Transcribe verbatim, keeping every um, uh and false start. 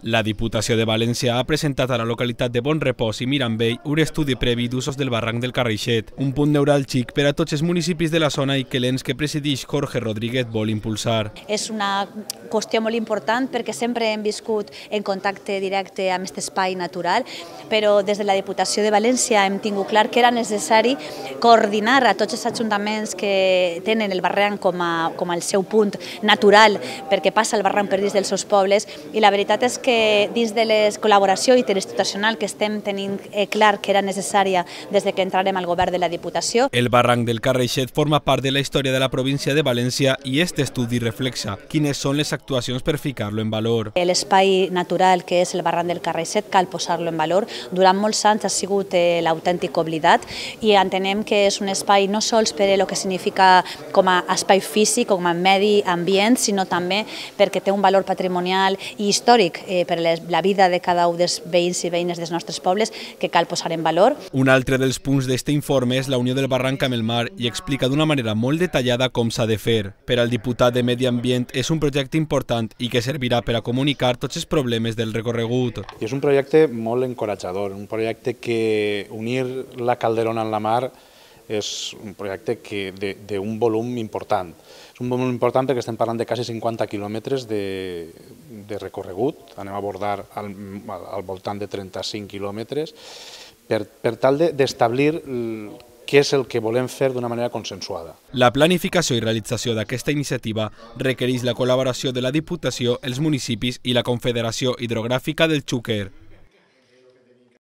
La Diputació de València ha presentat a la localitat de Bonrepòs i Mirambell un estudi previ d'usos del barranc del Carraixet, un punt neuràlgic per a tots els municipis de la zona i que l'ens que presideix Jorge Rodríguez vol impulsar. És una qüestió molt important perquè sempre hem viscut en contacte directe amb aquest espai natural, però des de la Diputació de València hem tingut clar que era necessari coordinar a tots els ajuntaments que tenen el barranc com a, com el seu punt natural perquè passa el barranc per dins dels seus pobles, i la veritat és que que dins de la col·laboració interinstitucional que estem tenint clar que era necessària des que entrarem al govern de la Diputació. El barranc del Carraixet forma part de la història de la província de València i aquest estudi reflexa quines són les actuacions per ficar-lo en valor. L'espai natural que és el barranc del Carraixet cal posar-lo en valor. Durant molts anys ha sigut l'autèntic oblidat i entenem que és un espai no sols per el que significa com a espai físic, com a medi ambient, sinó també perquè té un valor patrimonial i històric per la vida de cada un dels veïns i veïnes dels nostres pobles que cal posar en valor. Un altre dels punts d'aquest informe és la unió del barranc amb el mar i explica d'una manera molt detallada com s'ha de fer. Per al diputat de Medi Ambient és un projecte important i que servirà per a comunicar tots els problemes del recorregut. I és un projecte molt encoratjador, un projecte que unir la Calderona amb la mar és un projecte d'un volum important. És un volum important perquè estem parlant de quasi cinquanta quilòmetres de, de recorregut, anem a abordar al, al voltant de trenta-cinc quilòmetres, per, per tal d'establir què és el que volem fer d'una manera consensuada. La planificació i realització d'aquesta iniciativa requereix la col·laboració de la Diputació, els municipis i la Confederació Hidrogràfica del Xúquer.